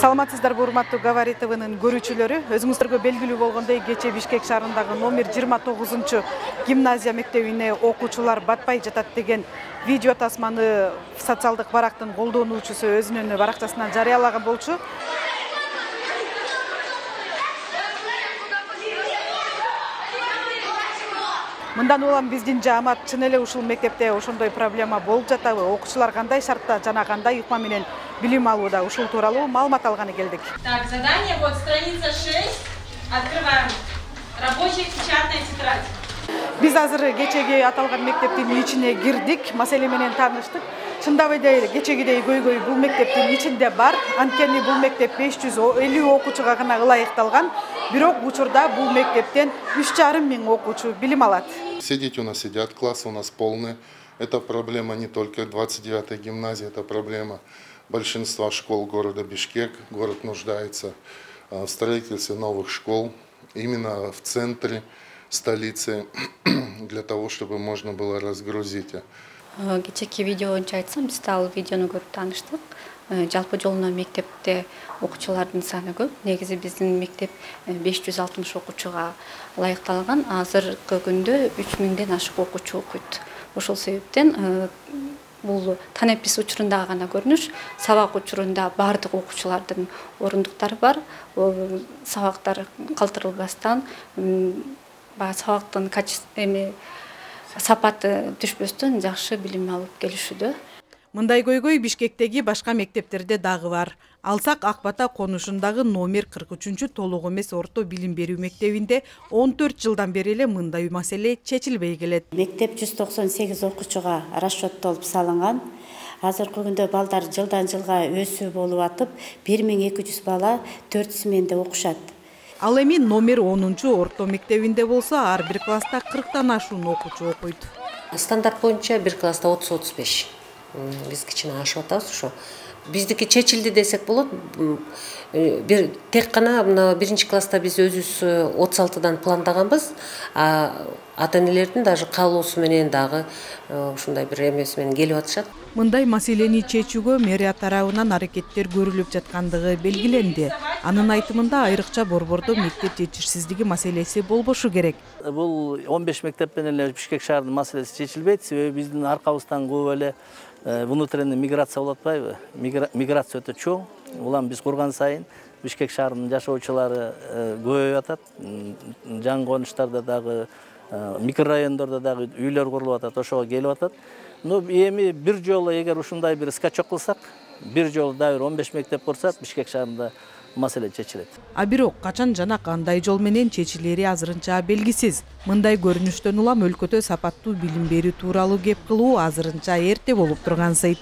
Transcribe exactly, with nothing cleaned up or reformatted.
Саламатсыздарбы, урматтуу Говори ТВнын көрүүчүлөрү. Өзүңүздөргө белгилүү болгондой, кечээ Бишкек шаарындагы номер жыйырма тогузунчу гимназия мектебине окуучулар батпай жатат деген видео тасманы социалдык барактын колдонуучусу өзүнүн баракчасынан жарыялаган болчу. Мындан улам биздин жаамат чын эле ушул мектепте ошондой проблема болуп жатабы? Окуучулар кандай шартта жана кандай ыкма менен билим алууда? Ушул тууралуу маалымат алганы келдик. Так, задание, вот страница шесть. Открываем. Рабочая печатная тетрадь. Биз азыр кечеги аталган мектептин ичине кирдик, маселе менен тааныштык. Чындап эле кечегидей көйгөй бул мектептин ичинде бар. Анткени бул мектеп беш жүз элүү окуучуга гана ылайыкталган. Бирок учурда бул мектептен үч жарым миң окуучу билим алат. Все дети у нас сидят, классы у нас полные. Это проблема не только двадцать девятой гимназии, это проблема большинства школ города Бишкек. Город нуждается в строительстве новых школ именно в центре столицы, для того, чтобы можно было разгрузить. Кечеки видео боюнча айтсам, биз ал видеону көрүп тааныштык. Жалпы жолуна мектепте окуучулардын саны көп. Негизи биздин мектеп беш жүз алтымыш окуучуга ылайыкталган. Азыркы күндө үч миңден ашык окуучу окуйт. Ошол себептен бул танепис учурунда гана көрүнүш, сабак учурунда баардык окуучулардын орундуктары бар. Сабактар калтырылбастан, баягы сабактын качествосу сапаты түшпөстөн жакшы билим алып келишүүдө. Мындай көйгөй Бишкектеги башка мектептерде дагы бар. Алсак Ак Бата конушундагы номер кырк үчүнчү толук эмес орто билим берүү мектебинде он төрт жылдан бери эле мындай маселе чечилбей келет. Мектеп жүз токсон сегиз окуучуга расчеттолуп салынган. Азыркы күндө балдар жылдан жылга өсүү болуп атып, бир миң эки жүз бала төрт сменде окушат. Ал эми номер онунчу орто мектебинде болсо, ар бир класста кырктан ашуун окуучу окуйт. Стандарт боюнча бир класста отуз отуз беш. Биз кичине ашып атабыз ошо. Биздики чечилди десек болот. Бир тек гана мына биринчи класста биз өзүбүз отуз алтыдан пландаганбыз. А ата-энелердин даже каалоосу менен дагы ушундай бир эмеси менен келип атышат. Мындай маселени чечүүгө мэрия тарабынан аракеттер көрүлүп жаткандыгы белгиленди. Анын айтымында айрыкча борбордо мектеп жетишсиздиги маселеси болбошу керек. Бул он беш мектептен эле Бишкек шаарынын маселеси чечилбейт. Себеби биздин аркабыздан көп эле внутренний миграция болуп атпайбы? Миграция өтө чоң. Улам биз курган сайын Бишкек шаарынын жашоочулары көбөйүп атат. Жаңы конуштарда дагы, микрорайондордо дагы үйлөр курулуп атат, ошого келип атат. Но эми бир жолу эгер ушундай бир скачок кылсак, бир жолу дагы он беш мектеп курсак, Бишкек шаарында маселе чечилет. А бирок качан жана кандай жол менен чечилери азырынча белгисиз. Мындай көрүнүштөн улам өлкөдө сапаттуу билим берүү тууралуу кеп кылуу азырынча эрте болуп тургансыйт.